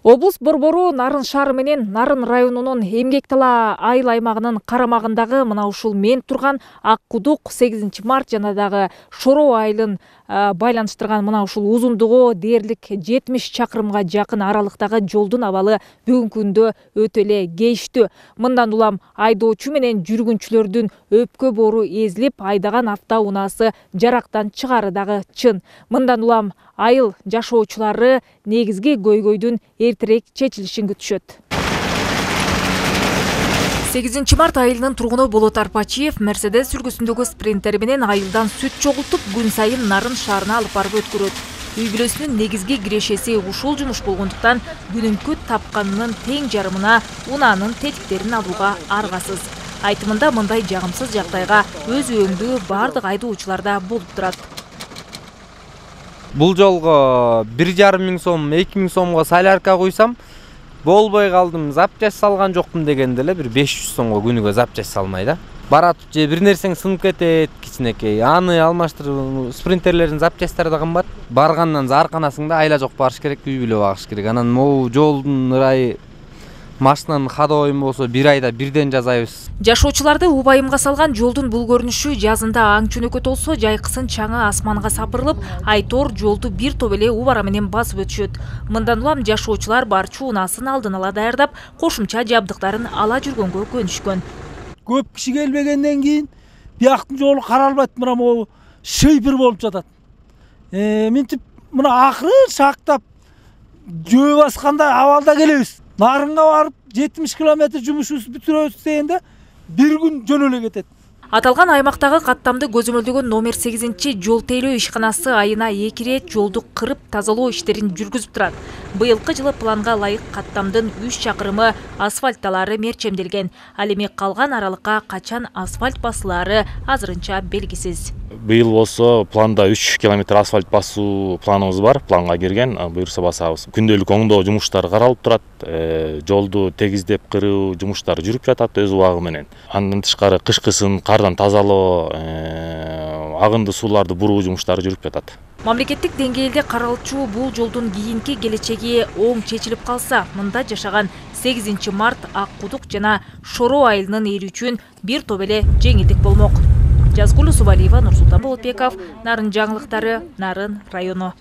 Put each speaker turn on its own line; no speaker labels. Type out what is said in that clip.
Облус борбору Нарын шаары менен Нарын районунун Эмгек Тала айыл аймагынын карамагындагы мына ушул мен турган Ак Кудук 8 март жана дагы Шороо айылын байланыштырган мына ушул узундугу дээрлик 70 чакырымга жакын аралыктагы жолдун абалы бүгүнкү күндө өтө эле кейиштүү. Мындан улам айдоочу менен жүргүнчүлөрдүн өпкө боору эзилип, айдаган автоунаасы жарактан чыгары дагы чын. Мындан улам айыл жашоочулары негизги көйгөйдүн эртерээк чечилишин күтүшөт. 8 март айылынын тургуну Болот Арпачиев Мерседес сүргүсүндөгү спринтери менен айылдан сүт чогултуп, күн сайын Нарын шаарына алып барып өткөрөт. Үй бүлөсүнүн негизги кирешеси ушул жумуш болгондуктан күнүмкү тапканынын тең жарымына унаанын тетиктерин алууга аргасыз. Айтымында мындай жагымсыз жагдайга өз өңдүү бардык айдоочуларда болуп турат.
Бул жолго 1,5 миң сом, 2 миң сомго солярка куйсам, болбой калдым, запчасть салган жокмун дегенде эле 500 сомго күнүгө запчасть салмай да. Барат же бир нерсең сынып кетет, кичинекей. Аны алмаштырып, спринтерлердин запчасттары да кымбат. Баргандан зарканасың да айла жок барыш керек, үй бүлө багыш керек. Анан могу жолдун ырайы машинанын ходовойун болсо 1 айда бирден жасайбыз.
Жашоочуларды убайымга салган жолдун бул көрүнүшү жазында аң чөнөкөт болсо, жайкысын чаңы асманга сапырылып, айтор жолду бир топ эле убара менен басып өтүшөт. Мындан улам жашоочулар барчу унаасын алдын ала даярдап, кошумча жабдыктарын ала жүргөнгө көнүшкөн.
Көп киши келбегенден кийин бияктын жолу каралбайт, мына могу шыйпыр болуп жатат. Минтип мына акыры шактап жөө басканда абалда келебиз. Нарынга барып 70 километр жумушубузду бүтүрөбүз дегенде бир күн жөн эле кетет.
Аталган аймактагы каттамды көзөмөлдөгөн номер 8 жол тейлөө ишканасы айына 2 рет жолду кырып тазалоо иштерин жүргүзүп турат. Быйылкы жылы планга ылайык каттамдын 3 чакырымы асфальтталары мерчемделген. Ал эми калган аралыкка качан асфальт басылаары азырынча белгисиз.
Быйыл болсо планда 3 километр асфальт басуу планыбыз бар, планга кирген, буюрса басабыз. Күндөлүк оңдоо жумуштары каралып турат, жолду тегиздеп кыруу жумуштары жүрүп жатат өз убагы менен. Андан тышкары кышкысын кардан тазалоо, агынды сууларды буруу жумуштары жүрүп жатат.
Мамлекеттик деңгээлде каралчу бул жолдун кийинки келечеги оң чечилип калса, мында жашаган 8 март Ак Кудук жана Шороо айылынын эли үчүн бир топ эле жеңилдик болмок. Жазгулу Субалиева, Нурсултан Болотбеков, Нарын жаңылыктары, Нарын району.